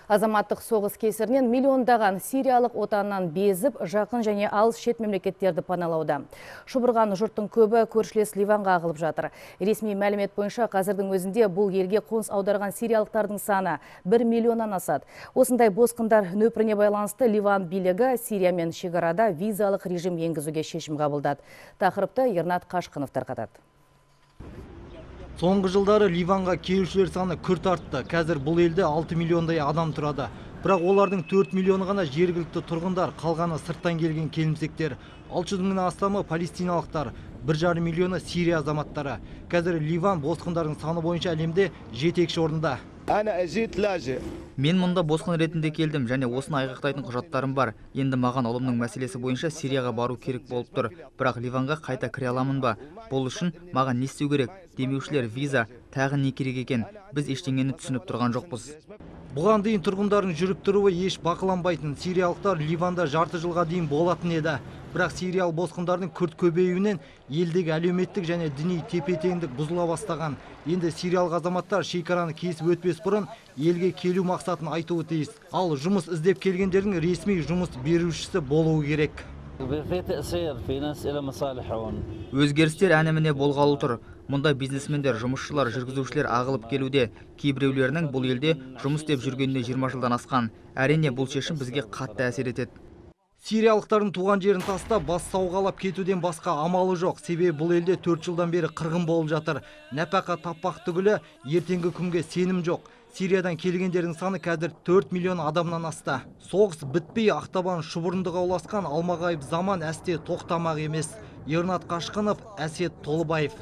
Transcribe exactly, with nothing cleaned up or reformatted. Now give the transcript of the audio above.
Азаматтық соғыс кесірінен миллиондаған сириялық отанынан безіп, жақын және алыс шет мемлекеттерді паналауда. Шұбырған жұрттың көбі көршілес Ливанға ағылып жатыр. Ресми мәлімет бойынша қазірдің өзінде бұл елге қоныс аударған сириялықтардың саны бір миллионнан асады. Осындай босқындар нөпіріне байланысты Ливан билігі Сириямен шекарада визалық режим енгізуге шешім қабылдады. Тақырыпты Ернат Қашқынов тарқатады. Соңғы жылдары Ливанға келушілер саны күрт артты. Қазір бұл елде алты миллиондай адам тұрады. Бірақ олардың төрт миллионы ғана жергілікті тұрғындар, қалғаны сырттан келген келімсектер. алты жүз мыңнан астамы палестиналықтар, бір жарым миллионы Сирия азаматтары. Қазір Ливан босқындардың саны бойынша әлемде жетекші орында. Мен мұнда босқын ретінде келдім және осыны айғақтайтын құжаттарым бар. Енді маған ұлымның мәселесі бойынша Сирияға бару керек болып тұр. Бірақ Ливанға қайта кіре аламын ба? Бұл үшін маған не істеу керек? Демеушілер виза, тағы не керек екен? Біз ештеңені түсініп тұрған жоқпыз. Бұған дейін тұрғындардың жүріп тұруы еш бақыланбайтын. Сириялықтар Ливанда жарты жылға дейін болатын еді. Бірақ сириялық босқындардың күрт көбеюінен елдегі әлеуметтік және діни тепе-теңдік бұзыла бастаған. Енді сириялық азаматтар шекараны кесіп өтпес бұрын елге келу мақсатын айтуы тиіс. Ал жұмыс іздеп келгендердің ресми жұмыс берушісі болуы керек. Өзгерістер әне-міне болғалы тұр. Мұнда бизнесмендер, жұмысшылар, жүргізушілер ағылып келуде. Кейбіреулерінің бұл елде жұмыс істеп жүргеніне жиырма жылдан асқан. Әрине бұл шешім бізге қатты әсер етеді. Сириялықтардың туған жерін тастап, бас сауғалап кетуден басқа амалы жоқ. Себебі бұл елде төрт жылдан бері қырғын болып жатыр. Нәпақа таппақ түгілі ертеңгі күнге сенім жоқ. Сириядан келгендердің саны қазір төрт миллион адамнан асты. Соғыс бітпей ақтабан шұбырындыға ұласқан алмағайып заман әсте тоқтамақ емес. Ернат Қашқынов, Әсет Толыбаев.